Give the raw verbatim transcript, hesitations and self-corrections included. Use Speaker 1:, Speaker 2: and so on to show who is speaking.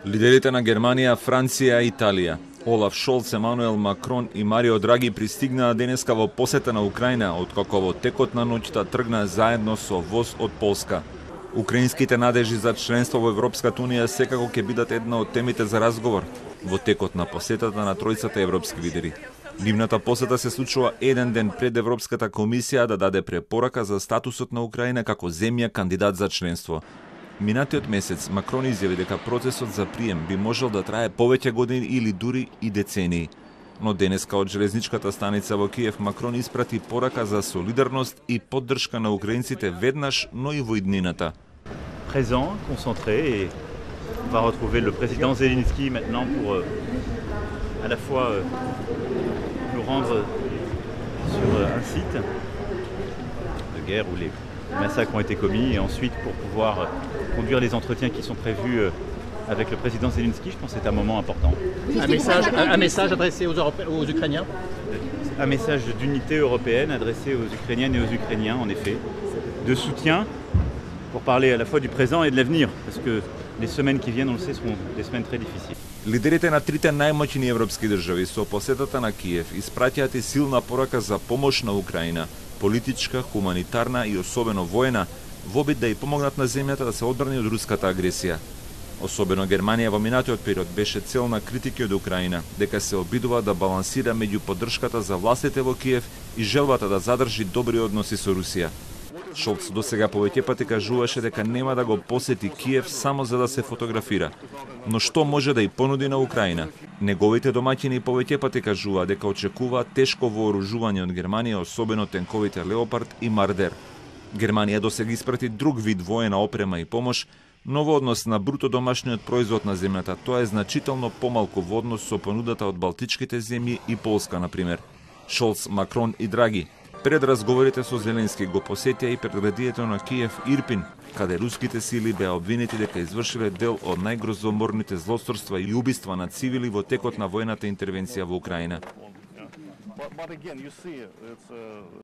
Speaker 1: Лидерите на Германија, Франција и Италија, Олаф Шолц, Емануел Макрон и Марио Драги пристигнаа денеска во посета на Украина, откако во текот на ноќта тргнаа заедно со воз од Полска. Украинските надежи за членство во Европската унија секако ќе бидат една од темите за разговор во текот на посетата на тројцата европски лидери. Нивната посета се случува еден ден пред Европската комисија да даде препорака за статусот на Украина како земја кандидат за членство. Минатиот месец Макрон изјави дека процесот за прием би можел да трае повеќе години или дури и децении. Но денеска од железничката станица во Киев Макрон испрати порака за солидарност и поддршка на украинците веднаш, но и во иднината.
Speaker 2: Présent, concentré, et on va retrouver le président Zelensky maintenant pour euh, à la fois euh, nous rendre sur euh, un site de guerre où les massacres ont été commis, et ensuite pour pouvoir euh, conduire les entretiens qui sont prévus euh, avec le président Zelensky. Je pense que c'est un moment important.
Speaker 3: Un message, un, un message adressé aux, Europé aux Ukrainiens
Speaker 2: Un message d'unité européenne adressé aux Ukrainiennes et aux Ukrainiens, en effet, de soutien pour parler à la fois du présent et de l'avenir, parce que les semaines qui viennent, on le sait, seront des semaines très difficiles.
Speaker 1: Лидерите на трите најмоćни европски држави со посетата на Киев испраќаат и силна порака за помош на Украина, политичка, хуманитарна и особено воена, во обид да ја помогнат на земјата да се одбрани од руската агресија. Особено Германија во минатиот период беше цел на критики од Украина, дека се обидува да балансира меѓу поддршката за властите во Киев и желбата да задржи добри односи со Русија. Шолц досега повеќе пати кажуваше дека нема да го посети Киев само за да се фотографира. Но што може да ја понуди на Украина? Неговите домаќини повеќе пати кажува дека очекува тешко вооружување од Германија, особено тенковите Леопард и Мардер. Германија досега испрати друг вид воена опрема и помош, но во однос на бруто домашниот производ на земјата тоа е значително помалку во однос со понудата од Балтичките земји и Полска, например. Шолц, Макрон и Драги пред разговорите со Зеленски го посетија и предградието на Киев Ирпин, каде руските сили беа обвинети дека извршиле дел од најгрозоморните злосторства и убиства на цивили во текот на воената интервенција во Украина.